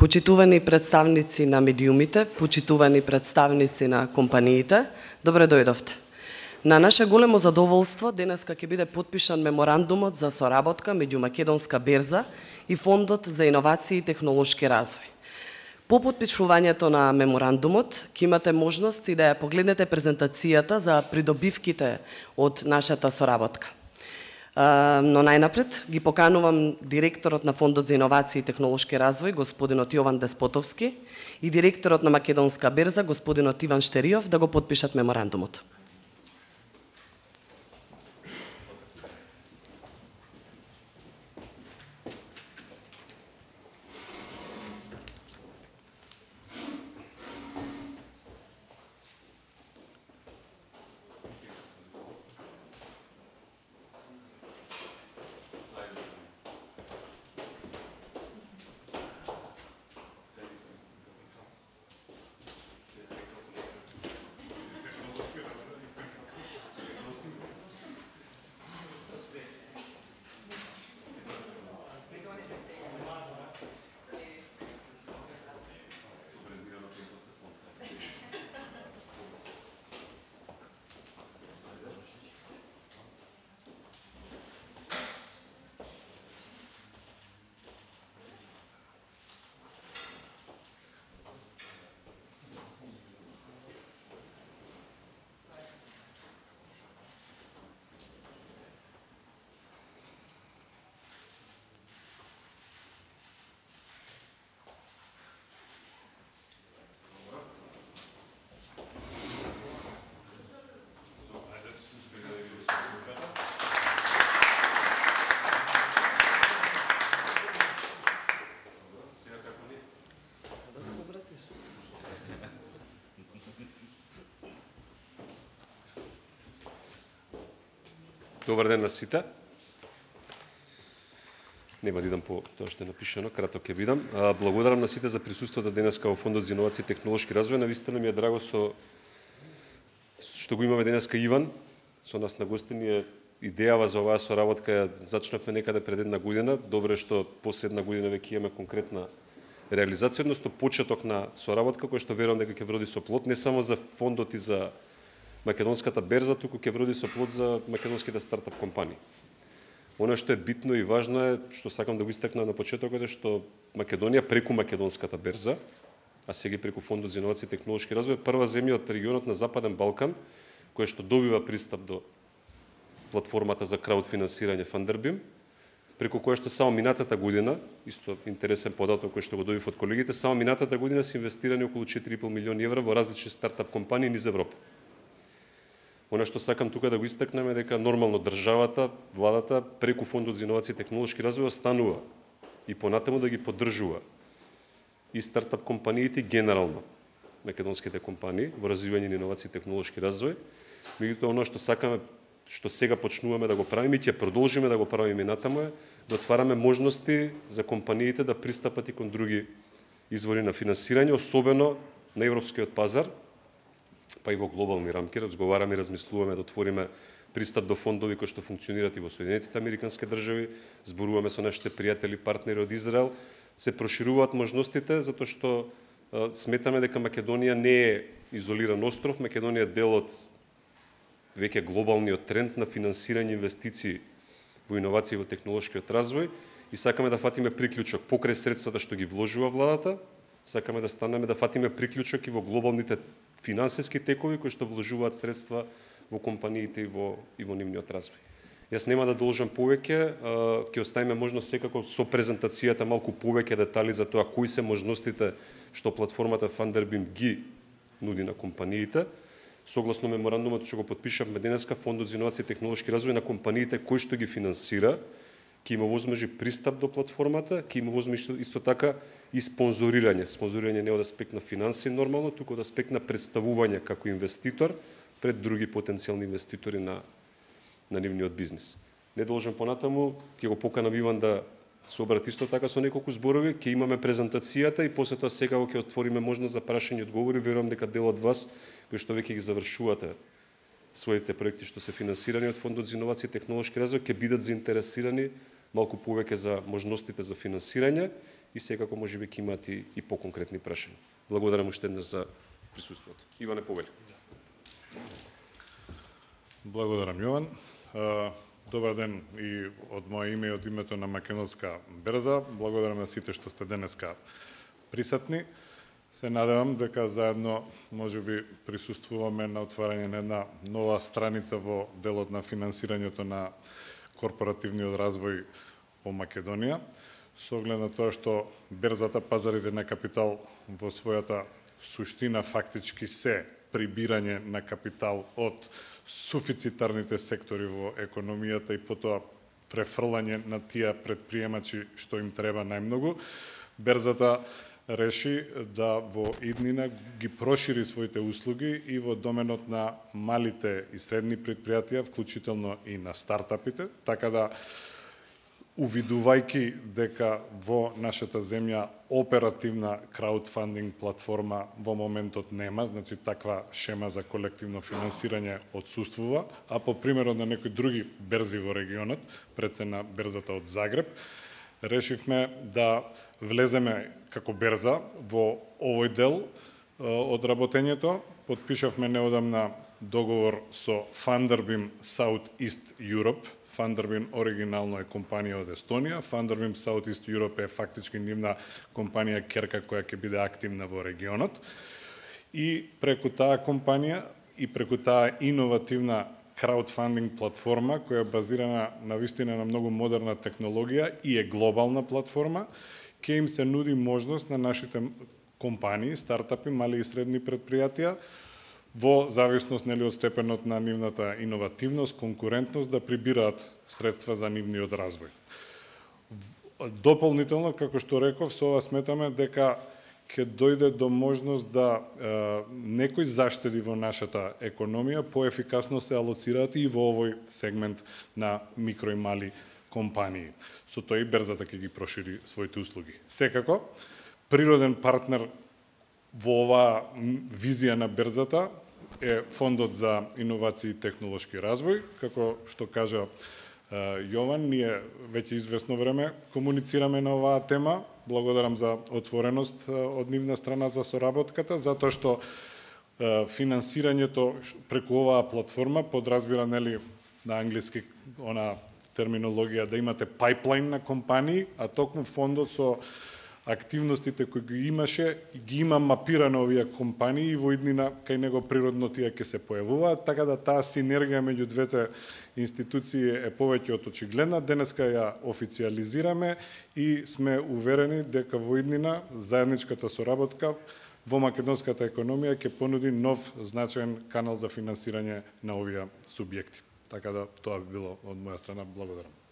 Почитувани представници на медиумите, почитувани представници на компаниите, добре дојдовте. На наше големо задоволство, денеска ќе биде подпишан меморандумот за соработка меѓу Македонска берза и Фондот за иновации и технолошки развој. По подпишувањето на меморандумот, ќе имате можност и да ја погледнете презентацијата за придобивките од нашата соработка. Но најнапред ги поканувам директорот на Фондот за иновации и технолошки развој, господинот Јован Деспотовски, и директорот на Македонска берза, господинот Иван Штериов, да го подпишат меморандумот. Добар ден на сите. Нема да идам по тоа што е напишано, краток ќе бидам. Благодарам на сите за присуството денеска во Фондот за иновации и технолошки развој. Навистина ми е драго што го имаме денеска Иван со нас на гостини. Идејава за оваа соработка ја зачнавме некаде пред една година. Добре што после една година веќе имаме конкретна реализација, односно почеток на соработка која што верувам дека ќе вроди со плод не само за фондот и за Македонската берза, туку ќе вроди со плод за македонските стартап компании. Оно што е битно и важно е, што сакам да го истакнам на почетокот, е што Македонија преку Македонската берза, а сега преку Фондот за иновации и технолошки развој, прва земја од регионот на Западен Балкан, која што добива пристап до платформата за краудфинансирање Фандербим, преку која што само минатата година, исто интересен податок кој што го добив од колегите, само минатата година се инвестирани околу 4,5 милиони евра во различни стартап компании низ Европа. Оно што сакам тука да го истакнем е дека нормално државата, владата, преку Фондот за иновации и технолошки развој останува и понатаму да ги поддржува и стартап компаниите генерално македонските компании во развивање на иновации и технолошки развој. Меѓутоа, оно што сакаме, што сега почнуваме да го правиме и ќе продолжиме да го правиме натаму е да отвараме можности за компаниите да пристапат и кон други извори на финансирање, особено на европскиот пазар, па и во глобални рамки. Разговараме и размислуваме да отвориме пристап до фондови кои што функционираат и во Соединетите Американски држави, зборуваме со нашите пријатели, партнери од Израел, се прошируваат можностите затоа што сметаме дека Македонија не е изолиран остров, Македонија е дел од веќе глобалниот тренд на финансирање инвестиции во иновации и во технолошкиот развој и сакаме да фатиме приклучок покрај средствата што ги вложува владата, сакаме да станеме да фатиме приклучок и во глобалните финансиски текови кои што вложуваат средства во компаниите и во нивниот развој. Јас нема да должам повеќе, ќе оставиме можност секако со презентацијата малку повеќе детали за тоа кои се можностите што платформата Фандербим ги нуди на компаниите. Согласно меморандумот што го подпишавме денеска, Фондот за иновации и технолошки развој на компаниите кои што ги финансира, ќе има возможи пристап до платформата, ќе има возможи исто така и спонзорирање. Спонзорирање не од аспект на финанси нормално, туку од аспект на представување како инвеститор пред други потенцијални инвеститори на нивниот бизнис. Не должам понатаму, ќе го поканам Иван да се обрати исто така со неколку зборови, ќе имаме презентацијата и после тоа сега ќе отвориме можност за прашање и одговори. Верувам дека дел од вас кои што веќе ги завршувате своите проекти што се финансирани од Фондот за иновации и технолошки развој ќе бидат заинтересирани малку повеќе за можностите за финансирање и секако можеби ќе имате и поконкретни прашања. Благодарам уште еднаш за присуството. Иване, повели. Благодарам, Јован. Добар ден и од моje име и од името на Македонска берза. Благодарам на сите што сте денеска присутни. Се надевам дека заедно можеби присуствуваме на отварање на една нова страница во делот на финансирањето на корпоративниот развој во Македонија, со оглед на тоа што берзата, пазарите на капитал во својата суштина фактички се прибирање на капитал од суфицитарните сектори во економијата и потоа префрлање на тие предприемачи што им треба најмногу. Берзата реши да во иднина ги прошири своите услуги и во доменот на малите и средни предпријатија, вклучително и на стартапите, така да увидувајќи дека во нашата земја оперативна краудфандинг платформа во моментот нема, значи таква шема за колективно финансирање отсуствува, а по примерот на некои други берзи во регионот, пред се на берзата од Загреб, решивме да влеземе како берза во овој дел од работењето. Подпишавме неодамна договор со Funderbeam South East Europe. Funderbeam оригинално е компанија од Естонија. Funderbeam South East Europe е фактички нивна компанија керка која ќе биде активна во регионот. И преку таа компанија и преку таа иновативна краудфандинг платформа, која е базирана на вистина на многу модерна технологија и е глобална платформа, ќе им се нуди можност на нашите компании, стартапи, мали и средни предпријатија, во зависност од степенот на нивната иновативност, конкурентност, да прибираат средства за нивниот развој. Дополнително, како што реков, со ова сметаме дека ќе дојде до можност да некои заштеди во нашата економија поефикасно се алоцираат и во овој сегмент на микро и мали компании. Со тоа и берзата ќе ги прошири своите услуги. Секако, природен партнер во оваа визија на берзата е Фондот за иновации и технолошки развој. Како што кажа Јован, ние веќе известно време комуницираме на оваа тема. Благодарам за отвореност од нивна страна за соработката, затоа што финансирањето преку оваа платформа подразбира, нели, на англиски она терминологија да имате пайплайн на компании, а токму фондот со активностите кои ги имаше, ги има мапирано овие компании и во иднина кај него природно тие ќе се појавуваат, така да таа синергија меѓу двете институции е повеќе од очигледна. Денеска ја официализираме и сме уверени дека во иднина заедничката соработка во македонската економија ќе понуди нов значаен канал за финансирање на овие субјекти. Така да тоа би било од моја страна. Благодарам.